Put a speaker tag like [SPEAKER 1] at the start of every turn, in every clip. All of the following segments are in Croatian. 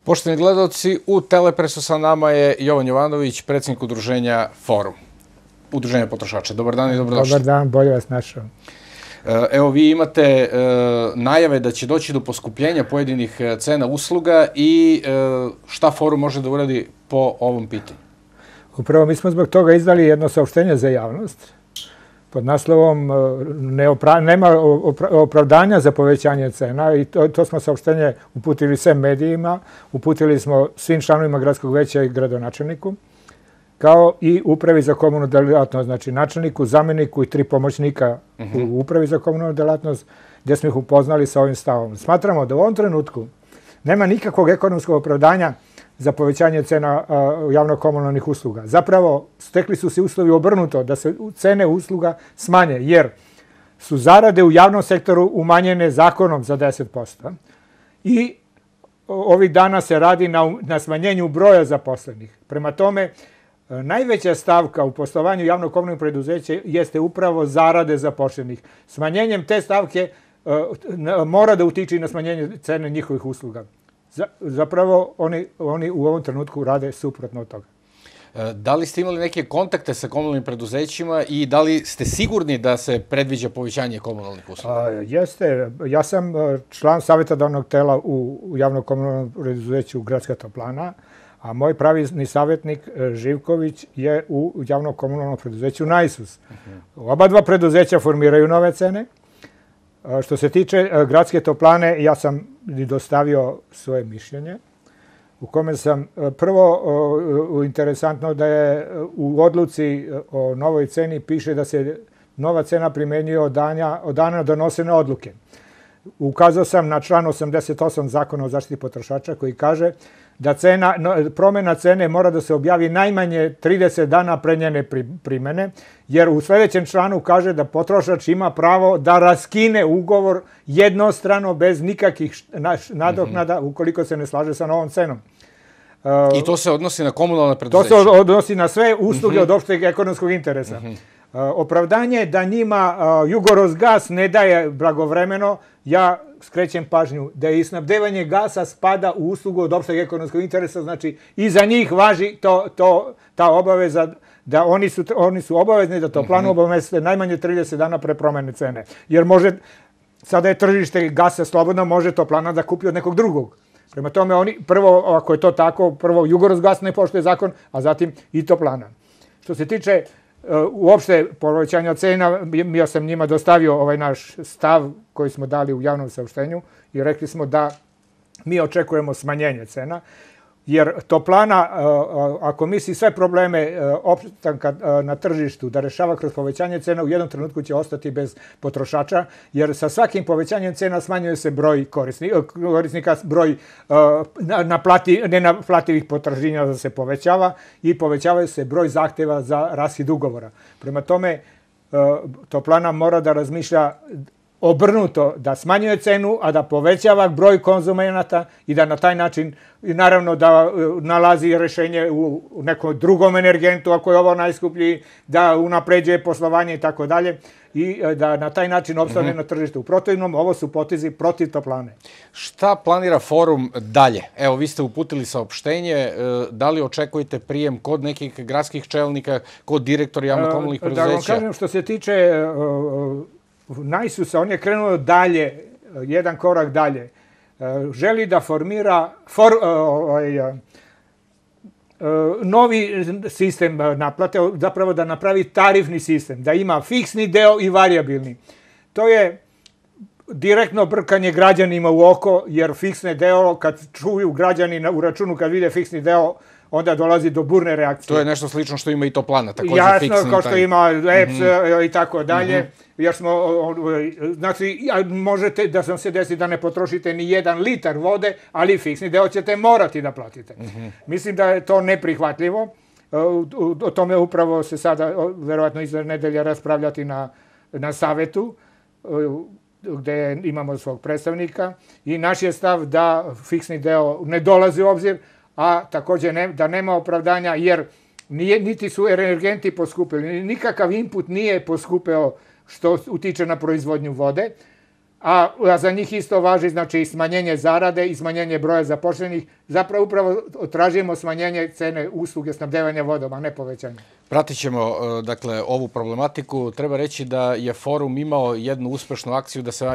[SPEAKER 1] Poštovani gledalci, u Telepresu sa nama je Jovan Jovanović, predsjednik udruženja Forum, udruženja potrošača. Dobar dan i dobrodošli.
[SPEAKER 2] Dobar dan, bolje vas našao.
[SPEAKER 1] Evo, vi imate najave da će doći do poskupljenja pojedinih cena usluga i šta Forum može da uradi po ovom pitanju?
[SPEAKER 2] Upravo mi smo zbog toga izdali jedno saopštenje za javnost pod naslovom nema opravdanja za povećanje cena i to smo saopštenje uputili svim medijima, uputili smo svim članovima gradskog veća i gradonačelniku, kao i upravi za komunalnu delatnost, znači načelniku, zamjeniku i 3 pomoćnika u upravi za komunalnu delatnost, gdje smo ih upoznali sa ovim stavom. Smatramo da u ovom trenutku nema nikakvog ekonomskog opravdanja za povećanje cena javno-komunalnih usluga. Zapravo, stekli su se uslovi obrnuto da se cene usluga smanje, jer su zarade u javnom sektoru umanjene zakonom za 10%. I ovih dana se radi na smanjenju broja zaposlenih. Prema tome, najveća stavka u poslovanju javno-komunalnih preduzeća jeste upravo zarade zaposlenih. Smanjenjem te stavke mora da utiče i na smanjenje cene njihovih usluga. Zapravo, oni u ovom trenutku rade suprotno od toga.
[SPEAKER 1] Da li ste imali neke kontakte sa komunalnim preduzećima i da li ste sigurni da se predviđa povećanje komunalnih usluga?
[SPEAKER 2] Jeste. Ja sam član savjetodavnog tela u javno-komunalnom preduzeću Gradska toplana, a moj pravizni savjetnik Živković je u javno-komunalnom preduzeću Najsus. Oba dva preduzeća formiraju nove cene. Što se tiče Gradske toplane, ja sam i dostavio svoje mišljenje, u kome sam prvo interesantno da je u odluci o novoj ceni piše da se nova cena primjenjuje od dana donosene odluke. Ukazao sam na član 88 Zakona o zaštiti potrošača koji kaže da promjena cene mora da se objavi najmanje 30 dana pre njene primjene, jer u sljedećem članu kaže da potrošač ima pravo da raskine ugovor jednostrano bez nikakvih nadoknada ukoliko se ne slaže sa novom cenom.
[SPEAKER 1] I to se odnosi na komunalne preduzeće?
[SPEAKER 2] To se odnosi na sve usluge od opšteg ekonomskog interesa. Opravdanje da njima Jugorosgas ne daje blagovremeno, ja skrećem pažnju da je i snabdevanje gasa spada u uslugu od opšteg ekonomskog interesa, znači i za njih važi ta obaveza da oni su obavezni da toplanu obaveste najmanje 30 dana pre promjene cene. Jer sada je tržište gasa slobodno, može toplana da kupi od nekog drugog. Prema tome, prvo, ako je to tako, prvo Jugorosgas ne poštuje zakon, a zatim i toplana. Što se tiče uopšte povećanja cena, ja sam njima dostavio ovaj naš stav koji smo dali u javnom saopštenju i rekli smo da mi očekujemo smanjenje cena, jer toplana, ako misli sve probleme opstanka na tržištu da rešava kroz povećanje cena, u jednom trenutku će ostati bez potrošača, jer sa svakim povećanjem cena smanjuje se broj korisnika, broj nenaplativih potraživanja da se povećava i povećava se broj zahteva za raskid ugovora. Prema tome, toplana mora da razmišlja obrnuto, da smanjuje cenu, a da povećava broj konzumenata i da na taj način, naravno da nalazi rešenje u nekom drugom energentu, ako je ovo najskuplji, da unapređuje poslovanje i tako dalje i da na taj način opstane na tržištu. U protivnom, ovo su potezi protiv toplane.
[SPEAKER 1] Šta planira Forum dalje? Evo, vi ste uputili saopštenje, da li očekujete prijem kod nekih gradskih čelnika, kod direktora javno-komunalnih preduzeća?
[SPEAKER 2] Da vam kažem, što se tiče Najsusa, on je krenuo dalje, jedan korak dalje. Želi da formira novi sistem naplate, zapravo da napravi tarifni sistem, da ima fiksni deo i varijabilni. To je direktno brkanje građanima u oko, jer fiksni deo, kad čuju građani u računu, kad vide fiksni deo, onda dolazi do burne reakcije.
[SPEAKER 1] To je nešto slično što ima i toplana, također fiksni.
[SPEAKER 2] Jasno, kao što ima EPS i tako dalje. Jer smo, znači, možete da vam se desi da ne potrošite ni 1 litar vode, ali fiksni deo ćete morati da platite. Mislim da je to neprihvatljivo. O tome upravo se sada, verovatno iza nedelja, raspravljati na savetu, gde imamo svog predstavnika. I naš je stav da fiksni deo ne dolazi u obzir, a također da nema opravdanja, jer niti su energenti poskupili, nikakav input nije poskupeo što utiče na proizvodnju vode. a za njih isto važi znači smanjenje zarade i smanjenje broja zaposlenih. Zapravo upravo tražimo smanjenje cene usluge snabdevanja vodom, a ne povećanje.
[SPEAKER 1] Pratit ćemo dakle, ovu problematiku. Treba reći da je forum imao jednu uspešnu akciju, da se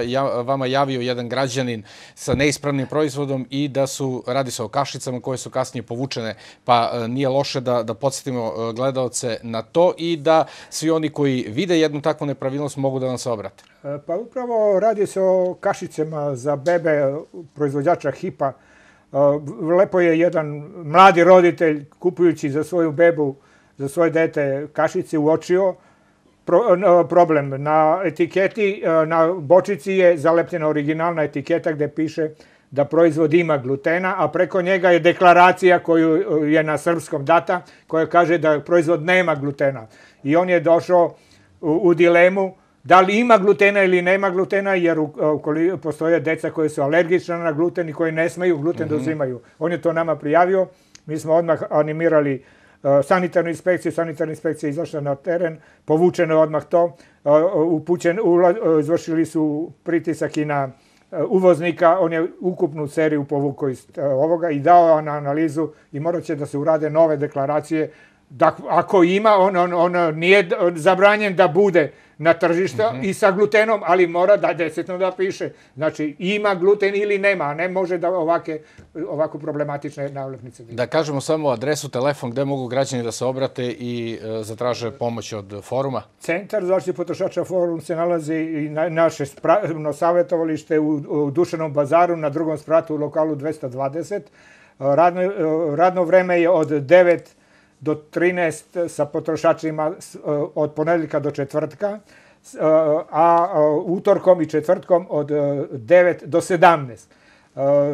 [SPEAKER 1] vama javio jedan građanin sa neispravnim proizvodom i da radi se o kašicama koje su kasnije povučene, pa nije loše da podsjetimo gledaoce na to i da svi oni koji vide jednu takvu nepravilnost mogu da vam se obrate.
[SPEAKER 2] Pa upravo radi se o kašicama za bebe proizvođača HIP-a. Lepo je jedan mladi roditelj kupujući za svoju bebu, za svoje dete kašice uočio problem. Na etiketi, na bočici je zalepljena originalna etiketa gdje piše da proizvod ima glutena, a preko njega je deklaracija koju je na srpskom data koja kaže da proizvod nema glutena. I on je došao u dilemu da li ima glutena ili nema glutena, jer postoje deca koje su alergična na gluten i koji ne smeju gluten da uzimaju. On je to nama prijavio, mi smo odmah animirali sanitarnu inspekciju, sanitarna inspekcija je izašla na teren, povučeno je odmah to, izvršili su pritisak i na uvoznika, on je ukupnu seriju povukao iz ovoga i dao na analizu i morat će da se urade nove deklaracije. Ako ima, on nije zabranjen da bude na tržištu i sa glutenom, ali mora da desetno da piše. Znači, ima gluten ili nema, a ne može da ovako problematične nalepnice.
[SPEAKER 1] Da kažemo samo adresu, telefon, gde mogu građani da se obrate i zatraže pomoć od foruma?
[SPEAKER 2] Centar zaštite potrošača Forum se nalazi i naše savjetovalište u Dušanom bazaru na drugom spratu u lokalu 220. Radno vreme je od 9 do 13 sa potrošačima od ponedeljka do četvrtka, a utorkom i četvrtkom od 9 do 17.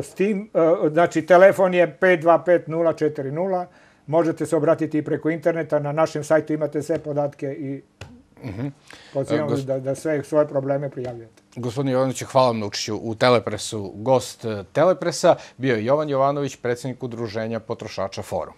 [SPEAKER 2] S tim, znači, telefon je 525-040, možete se obratiti i preko interneta, na našem sajtu imate sve podatke i pozivam da sve svoje probleme prijavljate.
[SPEAKER 1] Gospodine Jovanoviću, hvala vam na učešću u Telepresu. Gost Telepresa bio je Jovan Jovanović, predsjednik Udruženja potrošača Forum.